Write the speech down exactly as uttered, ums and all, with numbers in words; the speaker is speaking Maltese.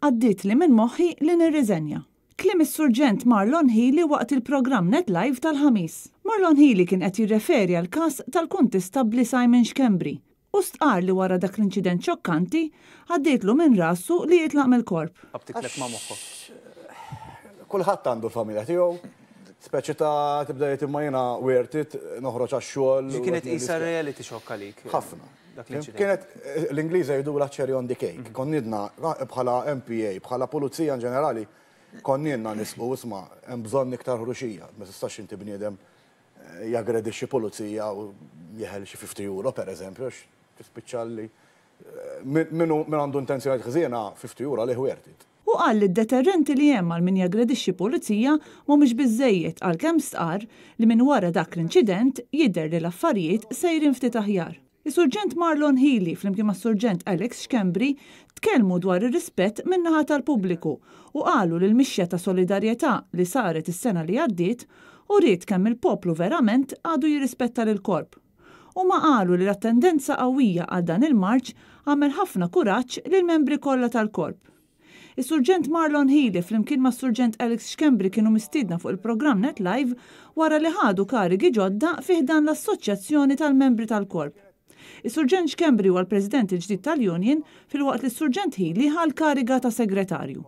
Għaddietli minn moħħi li nirriżenja. Kliem is-Surġent Marlon Hili waqt il-programm Net Live tal-Ħamis. Marlon Hili kien qed jirreferi għal każ tal-Kuntistabbli Simon Schembri u stqar li wara dak l-inċident xokkanti għaddietlu minn rasu li jitlaq mill-korp. Qabtitlek ma' moħħok. Kulħadd għandu l-familja tiegħu, speċi ta' tibda jgħid imma jiena worth it noħroġ għax-xogħol. Ġi kienet isa reality shock għalik. Ħafna. Dak l-inċident. Kienet, l-Ingliża jgħidu la cherry on the cake. Konna bħala M P A, bħala pulizija in ġenerali, konna nisqu isma' hemm bżonn iktar ħruxija. Ma tistax inti bniedem eh, jaggredixxi pulizija u jeħel xi fifty euro per eżempju, għax tispiċċa li eh, min min għandu intenzjoni ħżiena, fifty euro li worth it. U qal li d-deterrenti li hemm għal min jaggredixxi pulizija mhumiex biżejjed, għalkemm stqar li minn wara dak l-inċident jidher li l-affarijiet sejrin ftit aħjar. Is-Surġent Marlon Hili flimkien mas-Surġent Alex Schembri tkellmu dwar ir-rispett min-naħa tal-pubbliku u qalu li l-mixja ta' solidarjetà li saret is-sena li għaddiet uriet kemm il-poplu verament għadu jirrispetta lil korp. U ma qalu li l-attendenza qawwija għal dan il-marċ għamel ħafna kuraġġ lil membri kollha tal-korp. Is-Surġent Marlon Hili flimkien ma' Surġent Alex Schembri kienu mistiedna fuq il-programm Net Live wara li ħadu karigi ġodda fi ħdan l-Assoċjazzjoni tal-Membri tal-Korp. Is-Surġent Schembri huwa l-President il-ġdid tal-Union, filwaqt li s-Surġent Hili ħa l-kariga ta' segretarju.